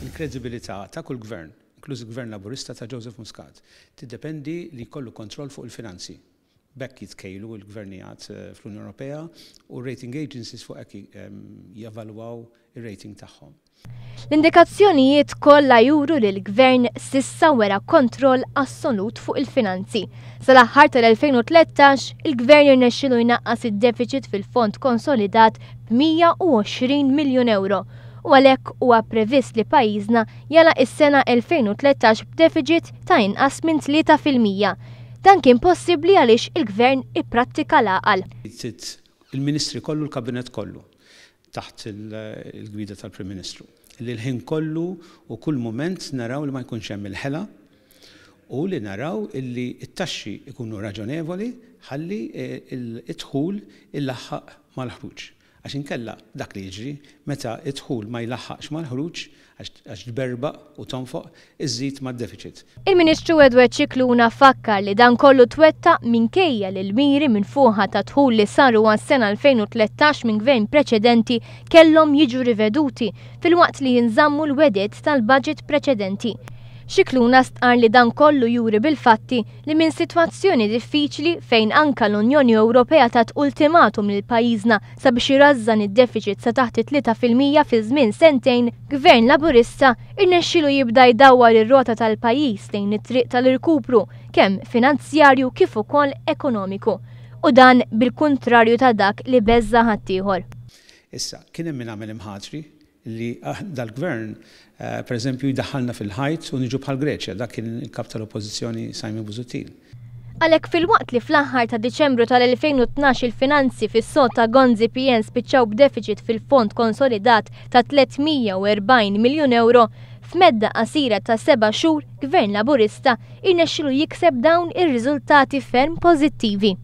Il-kredibilità ta' kull gvern, inkluż il-Gvern Laburista ta' Joseph Muscat, tiddependi li jkollu kontroll fuq il-finanzi. B'hekk jitkejlu l-gvernijiet fl-Unjoni Ewropea u r-rating agencies fuq hekk jevalwaw ir-rating tagħhom. L-indikazzjonijiet kollha juru li l-Gvern s'issa wera kontroll assolut fuq il-finanzi. Sal-aħħar tal-2013, il-Gvern irnexxielu jnaqqas id-defiċit fil-fond konsolidat b'120 miljun ewro u għalhekk huwa previst li pajjiżna jagħlaq is-sena 2013 b'defiċit ta' inqas minn 3%. Dan kien possibbli għaliex il-Gvern ipprattika l-għaqal. Il-Ministri kollu, l-Kabinett kollu, taħt il-gwida tal-Prim Ministru, li l-ħin kollu u kull mument naraw li ma jkunx hemm il-ħela u li naraw illi t-taxxi jkunu raġonevoli ħalli d-dħul ilaħħaq mal-ħruġ. Għax inkella dak li jiġri, meta d-dħul ma jlaħħaqx mal-ħruġ, għax tberbaq u tonfoq, iżżid mad-defiċit. Il-Ministru Edward Scicluna fakkar li dan kollu twettaq minkejja li l-miri minfuħa ta' dħul li saru għas-sena 2013 minn gvern preċedenti kellhom jiġu riveduti filwaqt li jinżammu l-wegħdiet tal-budget preċedenti. Scicluna stqarr li dan kollu juri bil-fatti li minn sitwazzjoni diffiċli fejn anka l-Unjoni Ewropea tat ultimatum lil pajjiżna sabiex irażżan id-defiċit sa taħt it-3% fi żmien sentejn, Gvern Laburista irnexxielu jibda jdawwar ir-rota tal-pajjiż lejn it-triq tal-irkupru kemm finanzjarju kif ukoll ekonomiku. U dan bil-kuntrarju ta' dak li beżża' ħaddieħor. Issa, kien hemm min għamel imħatri li dal-gvern, per eżempju, jdaħħalna fil-ħajt u niġu bħal Greċja, dak kien il-kap tal-Oppożizzjoni Simon Busuttil. Għalhekk filwaqt li fl-aħħar ta' Diċembru tal-2012 il-finanzi fis-sod ta' Gonzi PN spiċċaw b'defiċit fil-fond konsolidat ta' 340 miljun ewro, f'medda qasira ta' seba' xhur Gvern Laburista irnexxielu jikseb dawn ir-riżultati ferm pożittivi.